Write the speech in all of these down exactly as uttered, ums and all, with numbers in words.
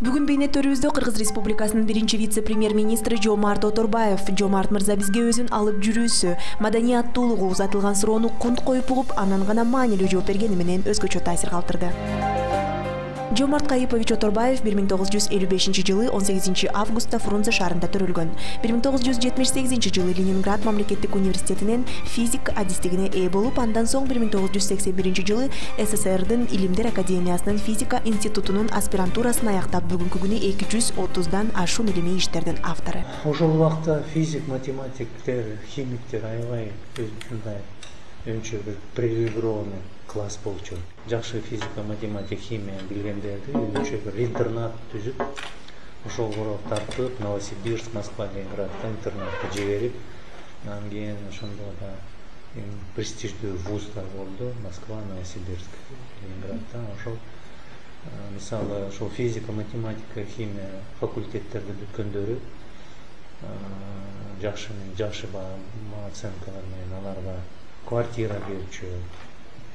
Бүгүн бейнеттөрүбүздө Кыргыз Республикасынын биринчи вице-премьер-министри Жомарт Оторбаев Жомарт мырза бизге өзүн алып жүрүүсү, маданияттуулугу узатылган суроону конт коюп угуп, анан гана маанилүү жооп бергени менен өзгөчө таасир калтырды. Жомарт Кайыпович Оторбаев бир миң тогуз жүз элүү бешинчи жылы он сегизинчи августта Фрунзе шаарында төрөлгөн. бир миң тогуз жүз жетимиш сегизинчи жылы Ленинград мамлекеттик университетинен физик адистигине ээ болуп, андан соң бир миң тогуз жүз сексен биринчи жылы СССРдин Илимдер академиясынын физика институтунун аспирантурасын аяктап, бүгүнкү күнү эки жүз отуздан ашуун илимий иштердин автору. Ошол убакта физик, математиктер, химиктер аябай ушундай өнчө бир привилегированный класс болчу. Жакшы физика, математика, химия билгендерди өзүнчө бир интернат түзүп, ошол короо тартып, Новосибирск, Москва, Ленинградда интернатка жиберип, анан кийин ошондо да престиждүү вуздар болду. Москва, Новосибирск, Ленинградда. Ошол мисалы ошол физика, математика, химия факультеттерди бүткөндөрү жакшы жакшы оценкалар менен аларга квартира берчү,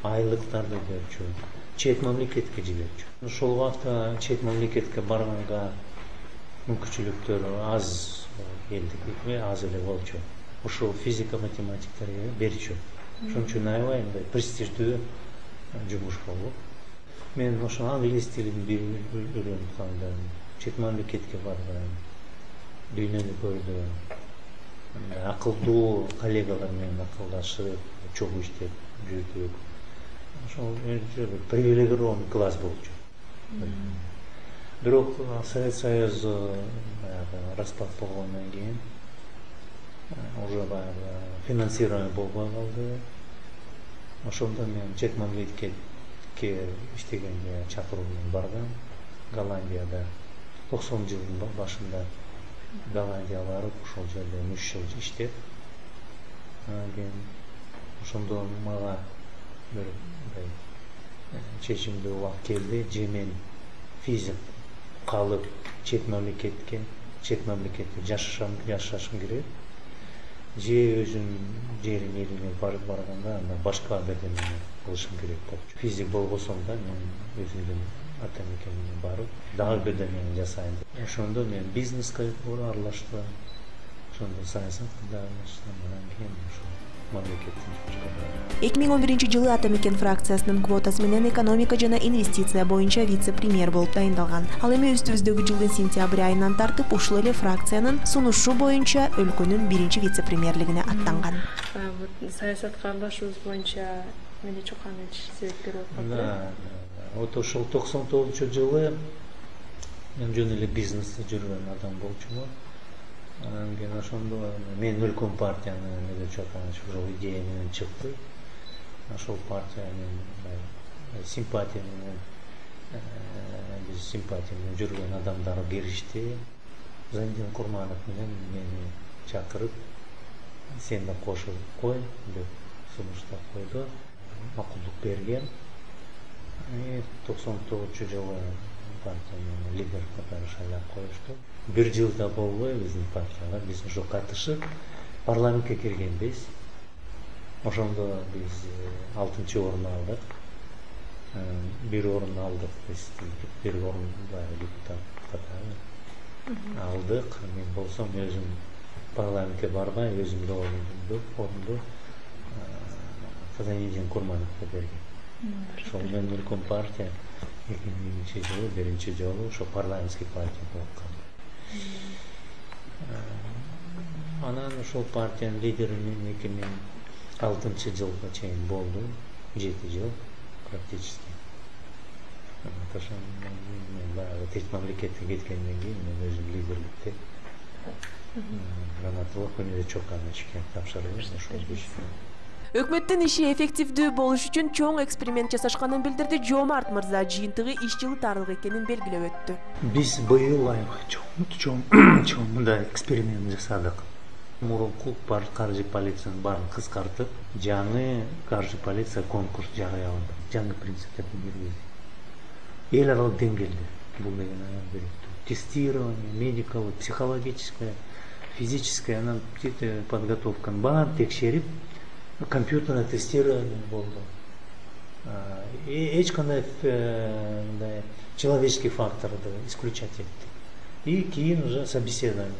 айлыктарды берчү, чет мамлекетке жиберчү. Ошол убакта чет мамлекетке барганга мүмкүнчүлүктөрү аз элдики, аз эле болчу. Ошол физика, математиктерге берчү. Ошон үчүн аябай мындай престиждүү жумуш болду. Мен ошо англис тилин үйрөнүп калдым, чет мамлекетке бардым, дүйнөнү көрдүм. Акылдуу коллегалар менен акылдашып, чогуу иштеп жүрдүк. Ошол привилегированный класс болчу. Бирок Совет Союзу распад болгондон кийин уже баягы финансирование болбой калды. Ошондо мен чет мамлекетке иштегенге чакыруу менен бардым. Голландияда токсонунчу жылдын башында Голландия барып, ошол жерде үч жыл иштеп, анан кийин ошондо мага бир чечимдүү убакыт келди. Же мен физик калып чет мамлекетке, чет мамлекетте жашашам, жашашым керек, же өзүм жерим элиме барып барганда анда башка бердеме кылышым керек болчу. Физик болбосом да мен өзүмдүн ата мекениме барып, дагы бирдемени жасайын деп. Ошондо мен бизнеске аралаштым. Ошондо саясатка аралаштым, анан кийин ошо мамлекеттин жумушка бардым. эки миң он биринчи жылы Ата мекен фракциясынын квотасы менен экономика жана инвестиция боюнча вице-премьер болуп дайындалган. Ал эми үстүбүздөгү жылдын сентябрь айынан тартып ушул эле фракциянын сунушу боюнча өлкөнүн биринчи вице-премьерлигине аттанган. Саясатка аралашуубуз боюнча эмне чокан себепкер болуп калды? Да, вот ошол токсон тогузунчу жылы мен жөн эле бизнесте жүргөн адам болчумун. Анан кийин ошондо мен өлкөм партияны эмне чокан ошол идея менен чыкты. Ошол партия менен симпатия менен биз симпатия менен жүргөн адамдар киришти. Замдин Курманов менен мени чакырып, сен да кошулуп кой деп сунуштап койду. Макулдук берген. токсон тогузунчу жылы партиянын лидер катары шайлап коюшту. Бир жылда болбой биздин партияга биз ошо катышып парламентке киргенбиз. Ошондо биз алтынчы орун алдык. Бир орун алдык биз, бир орун депутат катары алдык. Мен болсом өзүм парламентке барбай, өзүмдүн орунду орунду Замдин Курмановго берген. Ошол менен өлкөм партия эки миңинчи жылы биринчи жолу ошо парламентский партия болуп калды. Анан ошол партиянын лидери мен эки миң алтынчы жылга чейин болду, жети жыл практически. Ошон мен баягы чет мамлекетке кеткенден кийин мен өзүм лидерликте гранаталык өнөрү чокан ишке тапшырдым. Ошол Өкмөттүн иши эффективдүү болуш үчүн чоң эксперимент жасашканын билдирди Жомарт мырза. Жыйынтыгы иш жылы тарлык экенин белгилеп өттү. Биз быйыл чоң чоң мындай эксперимент жасадык. Мурунку каржы полициянын баарын кыскартып, жаңы каржы полиция конкурс жарыяладык. Жаңы принциптерди киргизди. Эл аралык деңгээлде бул деген аябай тестирование, медикалык, психологическое, физическое, анан подготовканы баарын текшерип, компьютерное тестирование болду. эч кандай мындай человеческий факторду исключать эттик. И кийин уже собеседование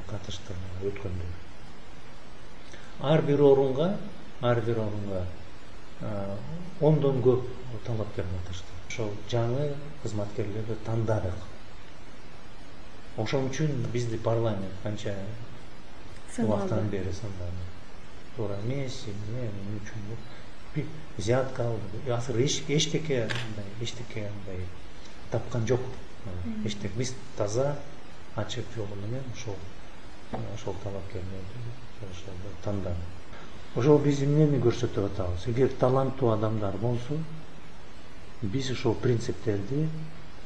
катышты өткөндө. Ар бир орунга, ар бир орунга ондон көп талапкер катышты. Ошол жаңы кызматкерлерди тандадык. Ошон үчүн бизди парламент канча убактан бери сындады. Туура эмес, эмне үчүн взятка алды. Азыр эчтеке эчтеке мындай тапкан жок. Эчтеке биз таза ачык жол менен ошол ошол талапкерлерди тандадык. Ошол биз эмнени көрсөтүп атабыз? Эгер таланттуу адамдар болсо, биз ошол принциптерди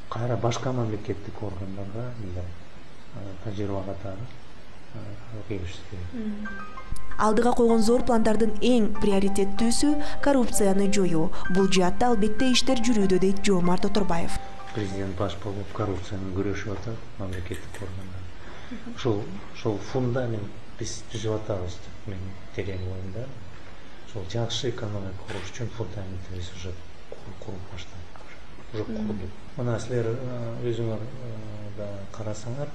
кайра башка мамлекеттик органдарга мындай тажрыйба катары келишибиз керек. Алдыга койгон зор пландардын эң приоритеттүүсү коррупцияны жоюу. Бул жаатта албетте иштер жүрүүдө, дейт Жоомарт Оторбаев. Президент баш болуп коррупция менен күрөшүп атат мамлекеттик органдар. Ошол ошол фундамент биз түзүп атабыз. Мен терең оюмда. Ошол жакшы экономика куруш үчүн фундаментибиз уже куруп баштадык. Уже курдук. Мына силер өзүңөр да карасаңар,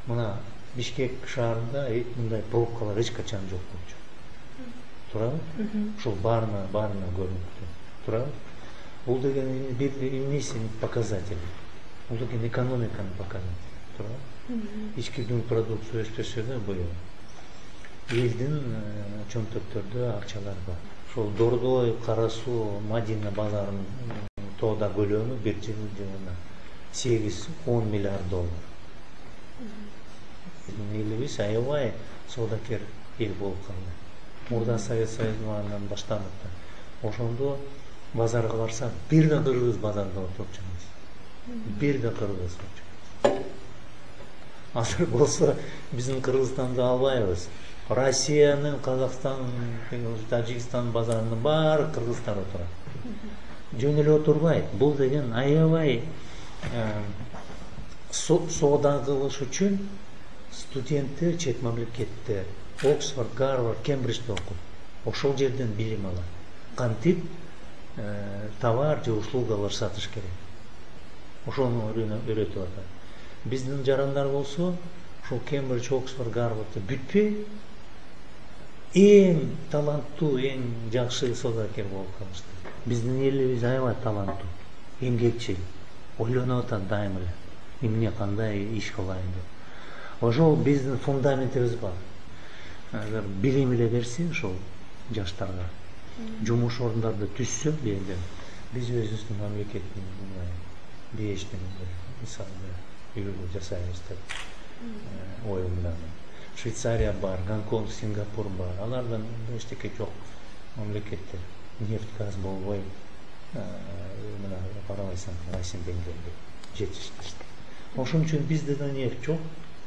мына Бишкек шаарында мындай пробкалар эч качан жок болчу. Туурабы? Ошол баарына баарына көрүнүптү. Туурабы? Бул деген бир эмнесинин показатели. Бул деген экономиканын показатели. Туурабы? Ички дүң продукция өспөсө да быйыл элдин чөнтөктөрдө акчалар бар. Ошол Дордой, Кара Суу, Мадина базарынын тоода көлөмү бир жыл жылына сегиз он миллиард доллар. Элибиз аябай соодакер эл болуп калды. Мурда Совет Союзунан баштанып да. Ошондо базарга барсак, бир да кыргыз базарда отурчу эмес. Бир да кыргыз. Азыр болсо биздин Кыргызстанды албайбыз. Россиянын, Казакстан, Тажикстан базарынын баары кыргыздар отурат. Жөн эле отурбайт. Бул деген аябай соода кылыш үчүн студенттер чет мамлекетте Оксфорд, Гарвард, Кембриджде окуп, ошол жерден билим алат. Кантип товар же услугалар сатыш керек. Ошону үйрөтүп атат. Биздин жарандар болсо, ошол Кембридж, Оксфорд, Гарвардды бүтпөй эң таланттуу, эң жакшы соодакер болуп калышты. Биздин элибиз аябай таланттуу, эмгекчил, ойлонуп атат дайыма эле. Эмне кандай иш кылайын деп. Ошол биздин фундаментибиз бар. Агар билим эле берсе ошол жаштарга жумуш орундарды түзсө, биз өзүбүздүн мамлекеттин бейиштин мисалында үйрөнүү жасайбыз деп оюмдамын. Швейцария бар, Гонконг, Сингапур бар. Алардан эчтеке жок мамлекеттер. Нефть, газ болбой, мына карабайсаң Россия деңгээлде жетиштиришти. Ошон үчүн бизде да нефть жок.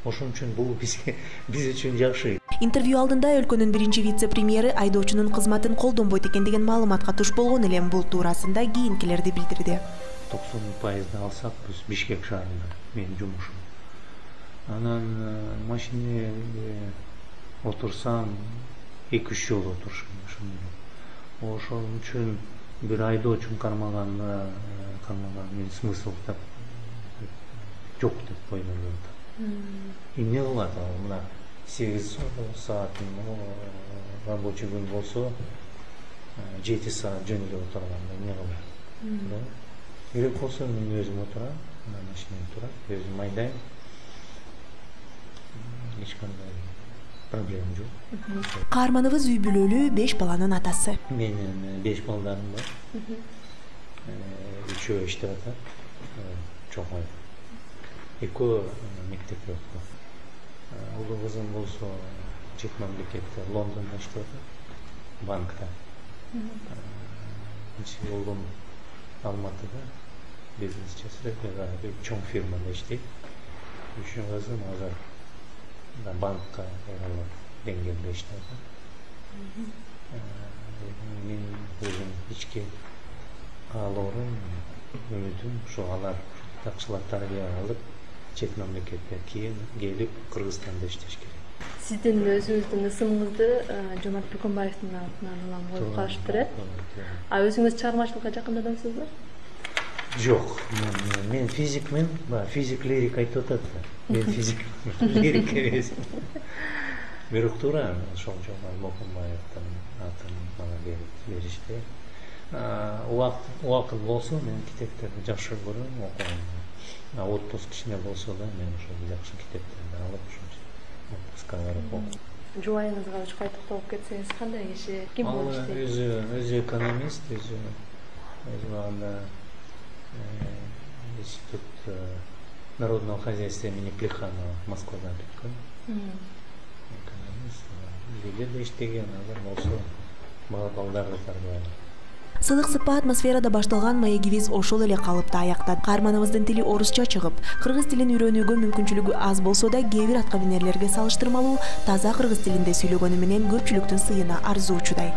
Ошон үчүн бул бизге биз үчүн жакшы. Интервью алдында өлкөнүн биринчи вице-премьери айдоочунун кызматын колдонбойт экен деген маалыматка туш болгон элем. Бул туурасында кийинкилерди билдирди. токсон пайызды алсак биз Бишкек шаарында менин жумушум. Анан машинеге отурсам эки үч жыл отурушум. Ошон үчүн бир айдоочун кармаганда кармаган мен смысл деп жок деп ойлоп атам. Эмне кылат ал? Мына сегиз сааттын рабочий күн болсо, жети саат жөн эле отурганда эмне кылат? Керек болсо мен өзүм отурам, машинем турат, өзүм айдайм. Эч кандай проблема жок. Каарманыбыз үй бүлөлүү беш баланын атасы. Менин беш балдарым бар. Үчөө иштеп атат. Чоңой. Экөө мектепте окуйт. Улуу кызым болсо чет мамлекетте Лондондо иштеп атат, банкта. Кичи улум Алматыда бизнес жасайт, бир чоң фирмада иштейт. Үчү кызым азыр банкка деңгээлде иштеп атат. Мен өзүм ички каалоорум, үмүтүм ушу алар жакшылап тарбия алып, чет мамлекетке кийин келип Кыргызстанда иштеш керек. Сиздин өзүңүздүн ысымыңызды Жомарт Бөкөнбаевдин атынан улам коюп калышыптыр э? А өзүңүз чыгармачылыкка жакын адамсызбы? Жок, мен мен физикмин, баягы физик лирик айтып атат да. Мен физик лирик эмес. Бирок туура ошол Жомарт Бөкөнбаевдин атын мага беришти. Убакыт убакыт болсо мен китептерди жакшы көрөм, окуганды. Отпуск кичине болсо да мен ошол жакшы китептерди алып ошо отпускка барып окуйм. Жубайыңызга ошо токтолуп кетсеңиз кандай киши, ким болуп иштейт? Ал өзү өзү экономист, өзү өз убагында институт народного хозяйства имени Плеханова Москвада бүткөн. Экономист, бизде да иштеген, азыр болсо балдарды тарбиялайт. Сылык сыпа атмосферада башталган маегибиз ошол эле калыпта аяктады. Каарманыбыздын тили орусча чыгып, кыргыз тилин үйрөнүүгө мүмкүнчүлүгү аз болсо да, кээ бир аткаминерлерге салыштырмалуу таза кыргыз тилинде сүйлөгөнү менен көпчүлүктүн сыйына арзуучудай.